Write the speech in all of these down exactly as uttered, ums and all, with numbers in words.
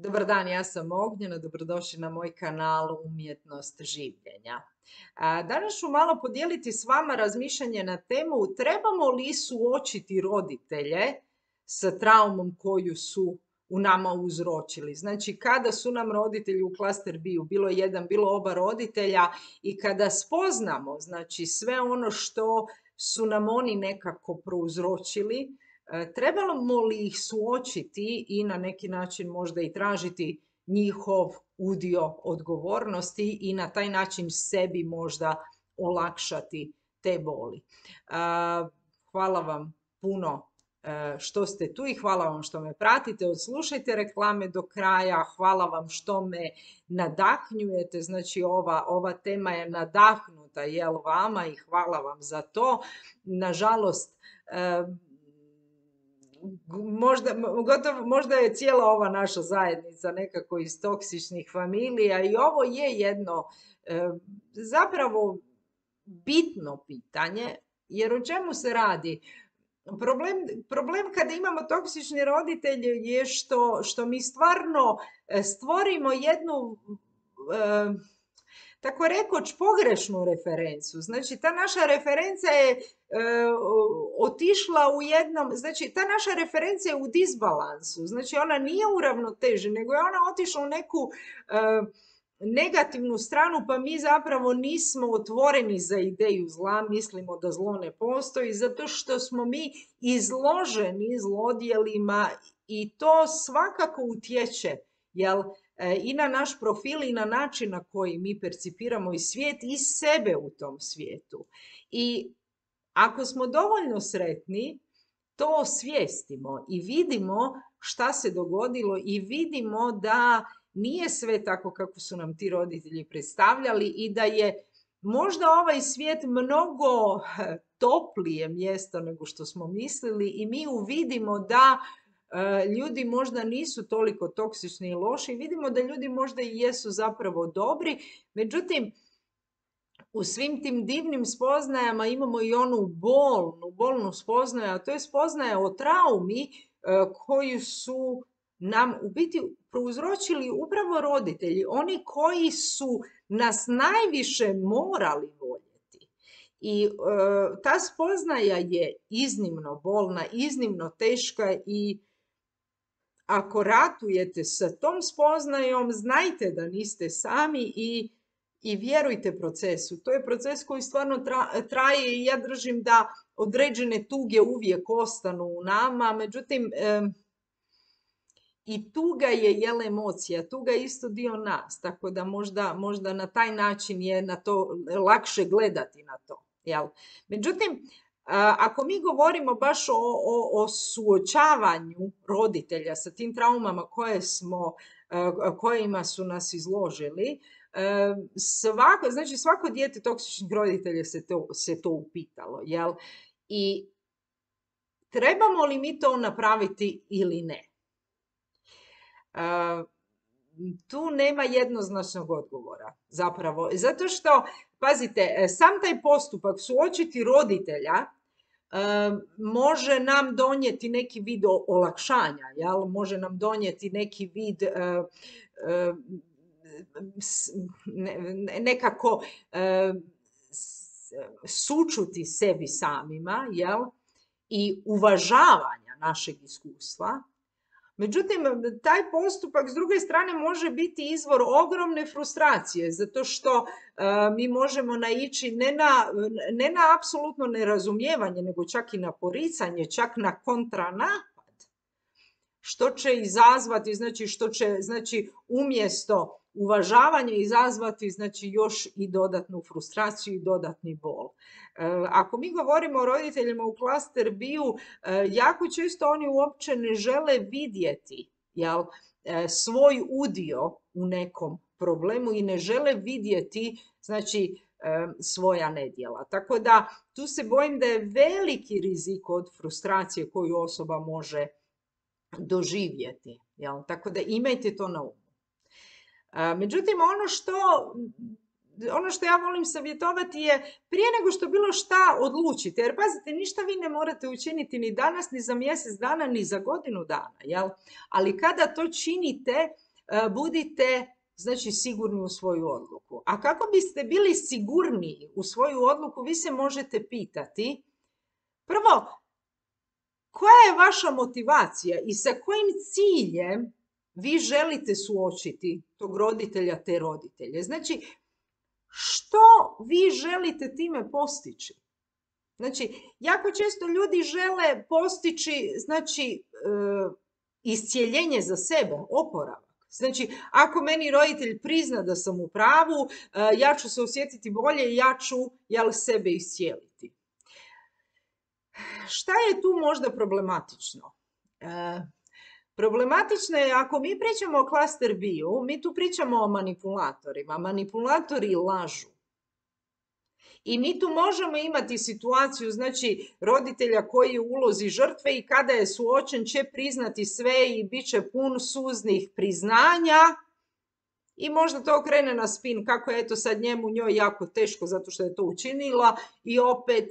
Dobar dan, ja sam Ognjena, dobrodošli na moj kanal Umjetnost življenja. A, Danas ću malo podijeliti s vama razmišljanje na temu trebamo li suočiti roditelje sa traumom koju su u nama uzročili. Znači, kada su nam roditelji u klaster B-u, bilo jedan, bilo oba roditelja, i kada spoznamo, znači, sve ono što su nam oni nekako prouzročili, trebamo li ih suočiti i na neki način možda i tražiti njihov udio odgovornosti i na taj način sebi možda olakšati te boli. Hvala vam puno što ste tu i hvala vam što me pratite, odslušajte reklame do kraja, hvala vam što me nadahnjujete, znači ova, ova tema je nadahnuta, jel vama, i hvala vam za to. Nažalost, Možda, gotovo, možda je cijela ova naša zajednica nekako iz toksičnih familija i ovo je jedno e, zapravo bitno pitanje, jer o čemu se radi? Problem, problem kada imamo toksični roditelje je što, što mi stvarno stvorimo jednu e, tako rekoć pogrešnu referencu. Znači, ta naša referenca je e, otišla u jednom, znači, ta naša referenca je u disbalansu. Znači, ona nije u ravnoteži, nego je ona otišla u neku e, negativnu stranu, pa mi zapravo nismo otvoreni za ideju zla, mislimo da zlo ne postoji, zato što smo mi izloženi zlodjelima i to svakako utječe, jel, i na naš profil i na način na koji mi percipiramo i svijet i sebe u tom svijetu. I ako smo dovoljno sretni, to osvijestimo i vidimo šta se dogodilo i vidimo da nije sve tako kako su nam ti roditelji predstavljali i da je možda ovaj svijet mnogo toplije mjesto nego što smo mislili i mi uvidimo da ljudi možda nisu toliko toksični i loši, vidimo da ljudi možda i jesu zapravo dobri, međutim, u svim tim divnim spoznajama imamo i onu bolnu, bolnu spoznaju, a to je spoznaja o traumi koju su nam u biti prouzročili upravo roditelji, oni koji su nas najviše morali voljeti. I e, ta spoznaja je iznimno bolna, iznimno teška i ako ratujete sa tom spoznajom, znajte da niste sami i, i vjerujte procesu. To je proces koji stvarno tra, traje i ja držim da određene tuge uvijek ostanu u nama, međutim, e, i tuga je jel emocija, tuga je isto dio nas, tako da možda, možda na taj način je na to lakše gledati na to. Jel? Međutim, ako mi govorimo baš o, o, o suočavanju roditelja sa tim traumama koje smo, kojima su nas izložili, svako, znači svako dijete toksičnih roditelja se to, se to upitalo. Jel? I trebamo li mi to napraviti ili ne? Uh, tu nema jednoznačnog odgovora zapravo, zato što, pazite, sam taj postupak suočiti roditelja uh, može nam donijeti neki vid olakšanja, jel? Može nam donijeti neki vid uh, uh, ne, nekako uh, sučuti sebi samima, jel? I uvažavanja našeg iskustva. Međutim, taj postupak s druge strane može biti izvor ogromne frustracije, zato što uh, mi možemo naići ne na, ne na apsolutno nerazumijevanje, nego čak i na poricanje, čak na kontranapad, što će izazvati, znači što će, znači umjesto uvažavanja izazvati, znači još i dodatnu frustraciju i dodatni bol. Ako mi govorimo o roditeljima u klaster B-u, jako često oni uopće ne žele vidjeti, jel, svoj udio u nekom problemu i ne žele vidjeti, znači, svoja nedjela. Tako da tu se bojim da je veliki rizik od frustracije koju osoba može doživjeti. Jel? Tako da imajte to na umu. Međutim, ono što ono što ja volim savjetovati je prije nego što bilo šta odlučite, jer pazite, ništa vi ne morate učiniti ni danas, ni za mjesec dana, ni za godinu dana, jel? Ali kada to činite, budite znači sigurni u svoju odluku. A kako biste bili sigurniji u svoju odluku, vi se možete pitati, prvo, koja je vaša motivacija i sa kojim ciljem vi želite suočiti tog roditelja, te roditelje? Znači, što vi želite time postići? Znači, jako često ljudi žele postići, znači, e, iscijeljenje za sebe, oporavak. Znači, ako meni roditelj prizna da sam u pravu, e, ja ću se osjetiti bolje i ja ću, jel, sebe iscijeliti. Šta je tu možda problematično? E, problematično je ako mi pričamo o klaster bio, mi tu pričamo o manipulatorima. Manipulatori lažu. I mi tu možemo imati situaciju, znači, roditelja koji je u ulozi žrtve i kada je suočen će priznati sve i bit će pun suznih priznanja i možda to krene na spin kako je eto sad njemu njoj jako teško zato što je to učinila i opet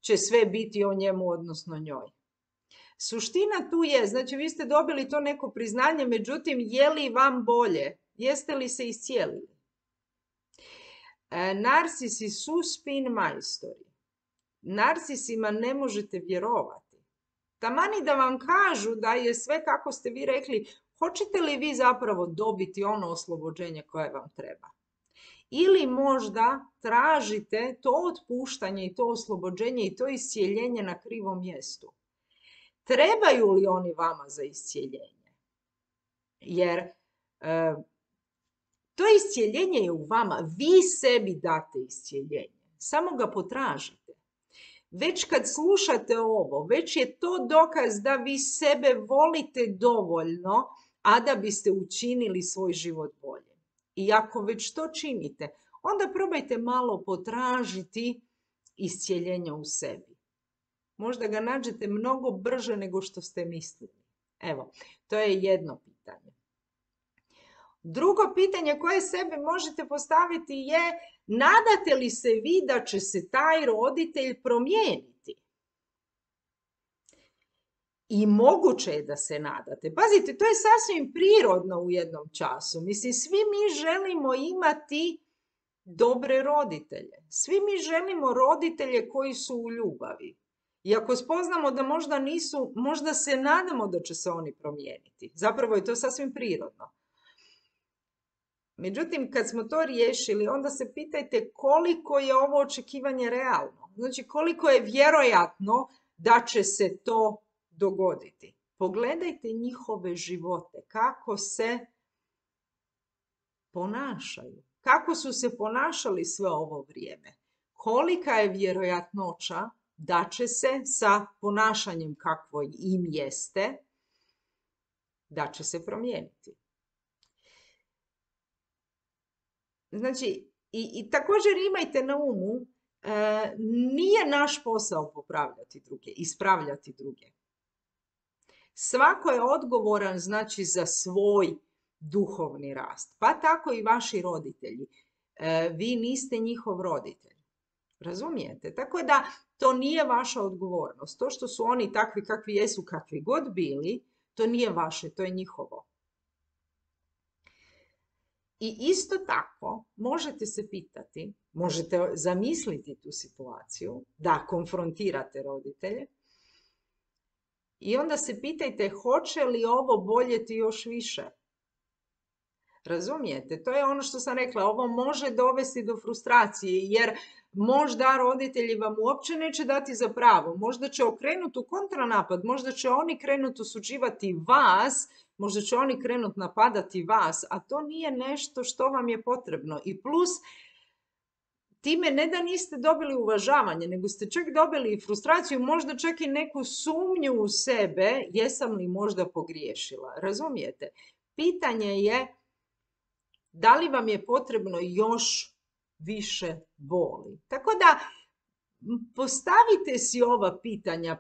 će sve biti o njemu, odnosno njoj. Suština tu je, znači vi ste dobili to neko priznanje, međutim, je li vam bolje? Jeste li se iscijelili? E, narcisi su spin majstori. Narcisima ne možete vjerovati. Tamani da vam kažu da je sve kako ste vi rekli, hoćete li vi zapravo dobiti ono oslobođenje koje vam treba? Ili možda tražite to otpuštanje i to oslobođenje i to iscijeljenje na krivom mjestu. Trebaju li oni vama za iscijeljenje? Jer e, to iscijeljenje je u vama. Vi sebi date iscijeljenje. Samo ga potražite. Već kad slušate ovo, već je to dokaz da vi sebe volite dovoljno, a da biste učinili svoj život bolje. I ako već to činite, onda probajte malo potražiti iscijeljenje u sebi. Možda ga nađete mnogo brže nego što ste mislili. Evo, to je jedno pitanje. Drugo pitanje koje sebi možete postaviti je, nadate li se vi da će se taj roditelj promijeniti? I moguće je da se nadate. Pazite, to je sasvim prirodno u jednom času. Mislim, svi mi želimo imati dobre roditelje. Svi mi želimo roditelje koji su u ljubavi. I ako spoznamo da možda nisu, možda se nadamo da će se oni promijeniti. Zapravo je to sasvim prirodno. Međutim, kad smo to riješili, onda se pitajte koliko je ovo očekivanje realno. Znači, koliko je vjerojatno da će se to dogoditi. Pogledajte njihove živote, kako se ponašaju. Kako su se ponašali sve ovo vrijeme. Kolika je vjerojatnoća da će se sa ponašanjem kakvo im jeste, da će se promijeniti. Znači, i, i također imajte na umu, e, nije naš posao popravljati druge, ispravljati druge. Svako je odgovoran, znači, za svoj duhovni rast. Pa tako i vaši roditelji. E, vi niste njihov roditelj. Razumijete? Tako da to nije vaša odgovornost. To što su oni takvi kakvi jesu, kakvi god bili, to nije vaše, to je njihovo. I isto tako možete se pitati, možete zamisliti tu situaciju da konfrontirate roditelje i onda se pitajte hoće li ovo boljeti još više. Razumijete? To je ono što sam rekla, ovo može dovesti do frustracije jer možda roditelji vam uopće neće dati za pravo, možda će okrenuti u kontranapad, možda će oni krenuti osuđivati vas, možda će oni krenuti napadati vas, a to nije nešto što vam je potrebno. I plus, time ne da niste dobili uvažavanje, nego ste čak dobili frustraciju, možda čak i neku sumnju u sebe, jesam li možda pogriješila. Razumijete? Pitanje je da li vam je potrebno još više boli. Tako da postavite si ova pitanja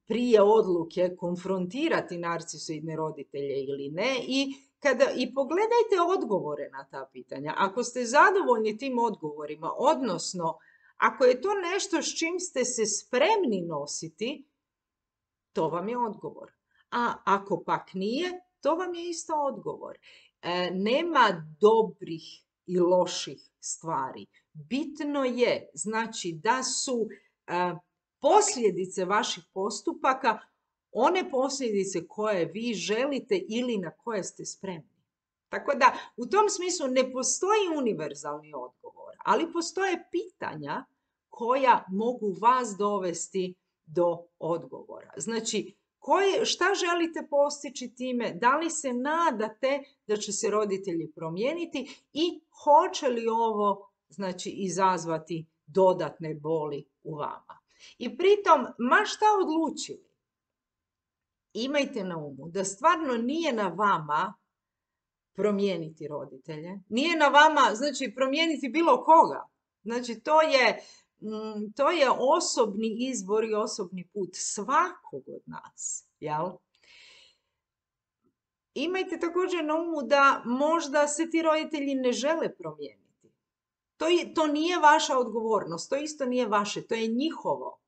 prije odluke konfrontirati narcisoidne roditelje ili ne i, kada, i pogledajte odgovore na ta pitanja. Ako ste zadovoljni tim odgovorima, odnosno ako je to nešto s čim ste se spremni nositi, to vam je odgovor. A ako pak nije, To vam je isto odgovor. E, nema dobrih i loših stvari. Bitno je, znači, da su e, posljedice vaših postupaka one posljedice koje vi želite ili na koje ste spremni. Tako da, u tom smislu ne postoji univerzalni odgovor, ali postoje pitanja koja mogu vas dovesti do odgovora. Znači, koje, šta želite postići time, da li se nadate da će se roditelji promijeniti i hoće li ovo, znači, izazvati dodatne boli u vama. I pritom, ma šta odlučili, imajte na umu da stvarno nije na vama promijeniti roditelje, nije na vama, znači, promijeniti bilo koga. Znači, to je, to je osobni izbor i osobni put svakog od nas, jel? Imajte također na umu da možda se ti roditelji ne žele promijeniti. To, je, to nije vaša odgovornost, to isto nije vaše, to je njihovo.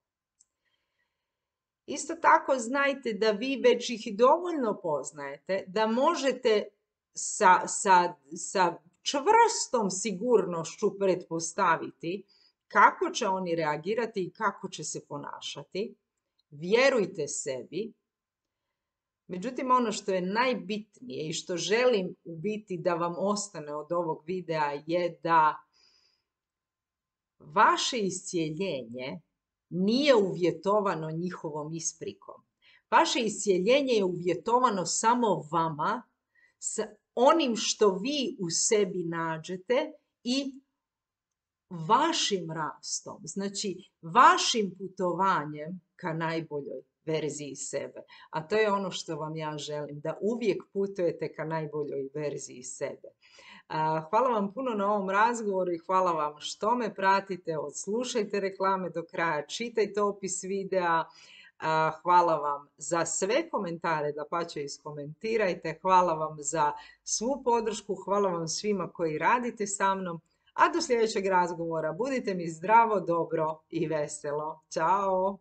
Isto tako znajte da vi već ih dovoljno poznajete, da možete sa, sa, sa čvrstom sigurnošću pretpostaviti kako će oni reagirati i kako će se ponašati. Vjerujte sebi. Međutim, ono što je najbitnije i što želim u biti da vam ostane od ovog videa je da vaše iscijeljenje nije uvjetovano njihovom isprikom. Vaše iscijeljenje je uvjetovano samo vama, s onim što vi u sebi nađete i vašim rastom, znači vašim putovanjem ka najboljoj verziji sebe. A to je ono što vam ja želim, da uvijek putujete ka najboljoj verziji sebe. Hvala vam puno na ovom razgovoru i hvala vam što me pratite, odslušajte reklame do kraja, čitajte opis videa. Hvala vam za sve komentare, dapače iskomentirajte, hvala vam za svu podršku, hvala vam svima koji radite sa mnom, a do sljedećeg razgovora budite mi zdravo, dobro i veselo. Ćao!